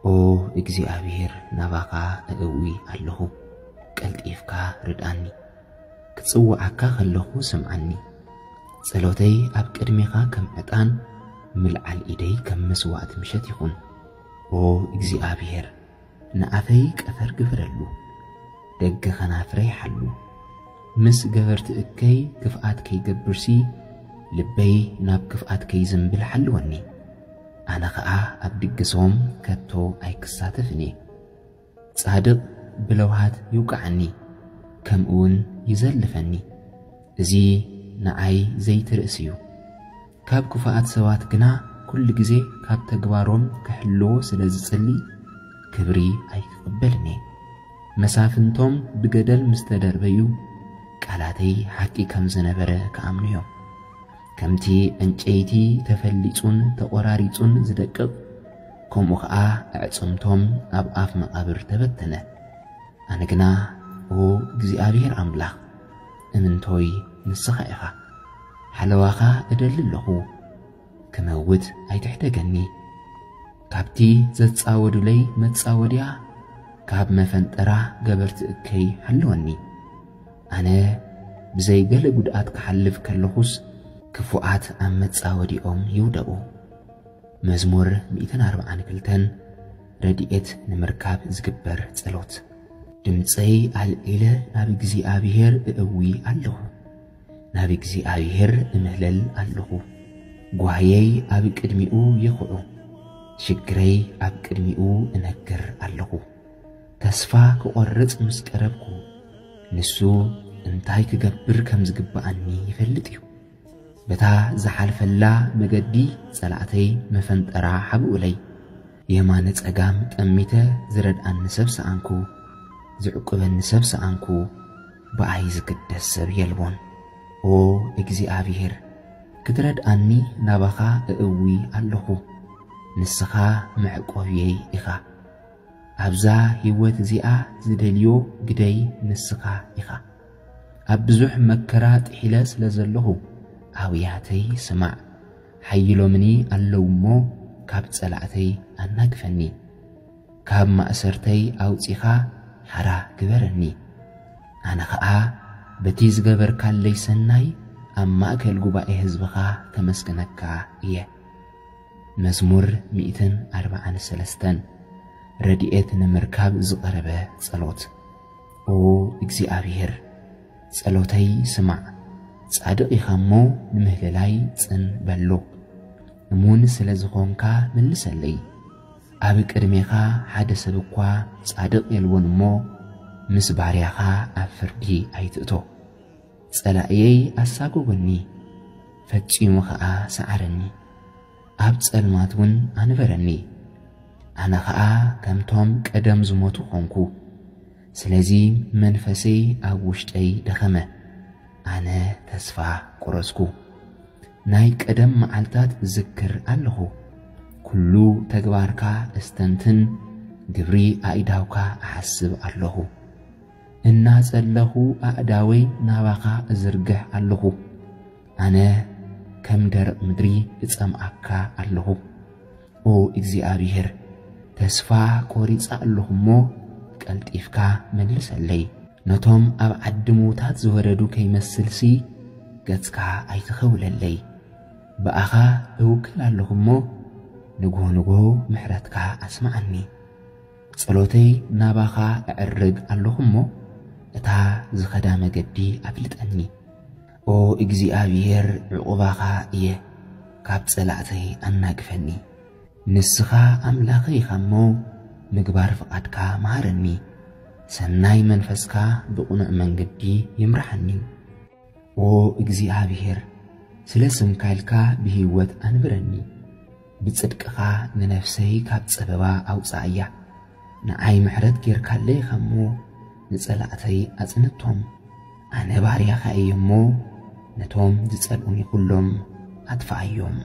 ኦ እግዚኣብሔር፣ ናባኻ እእዊ ኣለኹ፣ ቀልጢፍካ ርድኣኒ። ክጽውዓካ ከለኹ ስምዓኒ። ጸሎተይ ኣብ ቅድሜኻ ከም ዕጣን፣ ምልዓል ኢደይ ከም መስዋዕቲ ምሸት ይኹን። ኦ እግዚኣብሔር፣ ንኣፈይ ቀፈር ግበረሉ፣ ደገ ከናፍረይ ሓሉ። ምስ ገበርቲ እከይ ክፍኣት ከይገብርሲ፣ ልበይ ናብ ክፍኣት ከይዝንብል ሓልወኒ። ኣነ ኸኣ ኣብ ድግሶም ከቶ ኣይክሳተፍን እየ። ጻድቕ ብለውሃት ይውቃዓኒ፣ ከምኡውን ይዘልፈኒ። እዚ ንዓይ ዘይትርእስ እዩ። ካብ ክፉኣት ሰባት ግና ኩሉ ግዜ ካብ ተግባሮም ክሕልዎ ስለ ዝጽሊ፣ ክብሪ ኣይክቕበልን እየ። መሳፍንቶም ብገደል ምስ ተደርበዩ፣ ቃላተይ ሓቂ ከም ዝነበረ ክኣምኑ እዮም። ከምቲ ዕንጨይቲ ተፈሊጹን ተቖራሪጹን ዝደቅቕ፣ ከምኡ ኸኣ ኣዕጽምቶም ኣብ ኣፍ መቓብር ተበተነ። ኣነ ግና፣ ኦ እግዚኣብሔር ኣምላኽ፣ እምንቶይ ንስኻ ኢኻ። ሓለዋኻ እደሊ ኣለኹ፣ ክመውት ኣይትሕደገኒ። ካብቲ ዘጻወዱለይ መጻወድያ፣ ካብ መፈንጠራ ገበርቲ እከይ ሓልወኒ። ኣነ ብዘይ ገለ ጉድኣት ክሓልፍ ከለኹስ፣ ክፉኣት ኣብ መጻወዲኦም ይውደቑ። መዝሙር ሚእትን ኣርባዓን ክልተን፣ ረድኤት ንምርካብ ዝግበር ጸሎት። ድምጸይ ኣልዒለ ናብ እግዚኣብሔር እእዊ ኣለኹ፣ ናብ እግዚኣብሔር እምህለል ኣለኹ። ጓህየይ ኣብ ቅድሚኡ ይኹዑ፣ ሽግረይ ኣብ ቅድሚኡ እነግር ኣለኹ። ተስፋ ክቖርጽ ምስ ቀረብኩ፣ ንሱ እንታይ ክገብር ከም ዝግብኣኒ ይፈልጥ እዩ። በታ ዝሓልፈላ መገዲ ጸላእተይ መፈንጠራ ሓብኡለይ። የማነ ጸጋም ጠሚተ ዝረድኣኒ ሰብ ሰኣንኩ፣ ዝዕቁበኒ ሰብ ሰኣንኩ፣ ብኣይ ዝግደስ ሰብ የልቦን። ኦ እግዚኣብሔር፣ ክትረድኣኒ ናባኻ እእዊ ኣለኹ። ንስኻ መዕቆብየይ ኢኻ። ኣብዛ ህይወት እዚኣ ዝደልዮ ግደይ ንስኻ ኢኻ። ኣብ ብዙሕ መከራ ጥሒለ ስለ ዘለኹ፣ ኣውያተይ ስማዕ። ሓይሎምኒ ኣለዉ እሞ፣ ካብ ጸላእተይ ኣናግፈኒ። ካብ ማእሰርተይ ኣውጺኻ ሓራ ግበረኒ። ኣነ ኸኣ በቲ ዝገበርካለይ ሰናይ ኣብ ማእከል ጉባኤ ህዝብኻ ከመስግነካ እየ። መዝሙር ሚእትን ኣርባዓን ሰለስተን። ረድኤት ንምርካብ ዝቐረበ ጸሎት። ኦ እግዚኣብሔር፣ ጸሎተይ ስማዕ። ጻድቕ ኢኻ እሞ፣ ንምህልላይ ጽን በሎ። እሙን ስለ ዝኾንካ፣ መልሰለይ። ኣብ ቅድሜኻ ሓደ ሰብ እኳ ጻድቕ የልቦን እሞ፣ ምስ ባርያኻ ኣብ ፍርዲ ኣይትእቶ። ጸላእየይ ኣሳጎጎኒ፣ ፈጺሙ ኸኣ ሰዓረኒ። ኣብ ጸልማት እውን ኣንበረኒ። ኣነ ኸኣ ከምቶም ቀደም ዝሞቱ ኾንኩ። ስለዚ መንፈሰይ ኣብ ውሽጠይ ደኸመ። ኣነ ተስፋ ቁረጽኩ። ናይ ቀደም መዓልታት እዝክር ኣለኹ። ኩሉ ተግባርካ እስተንትን፣ ግብሪ ኣእዳውካ እሓስብ ኣለኹ። እናጸለኹ ኣእዳወይ ናባኻ እዝርግሕ ኣለኹ። ኣነ ከም ደረቕ ምድሪ እጸምኣካ ኣለኹ። ኦ እግዚኣብሔር፣ ተስፋ ቆሪጸ ኣለኹ እሞ፣ ቀልጢፍካ መልሰለይ። ነቶም ኣብ ዓዲ ምዉታት ዝወረዱ ከይመስልሲ፣ ገጽካ ኣይትኸውለለይ። ብኣኻ እውክል ኣለኹ እሞ፣ ንግሆ ንግሆ ምሕረትካ ኣስምዓኒ። ጸሎተይ ናባኻ እዕርግ ኣለኹ እሞ፣ እታ ዝኸዳ መገዲ ኣፍልጠኒ። ኦ እግዚኣብሔር፣ ዕቑባኻ እየ፣ ካብ ጸላእተይ ኣናግፈኒ። ንስኻ ኣምላኸይ ኢኻ እሞ፣ ምግባር ፍቓድካ መሃረኒ። ሰናይ መንፈስካ ብቕኑዕ መንገዲ ይምርሓኒ። ኦ እግዚኣብሔር፣ ስለ ስምካ ኢልካ ብህይወት ኣንብረኒ። ብጽድቅኻ ንነፍሰይ ካብ ጸበባ ኣውጽኣያ። ንዓይ ምሕረት ጌርካለይ ኢኻ እሞ፣ ንጸላእተይ ኣጽንቶም። ኣነ ባርያኻ እየ እሞ፣ ነቶም ዝጸልኡኒ ኩሎም ኣጥፍኣዮም።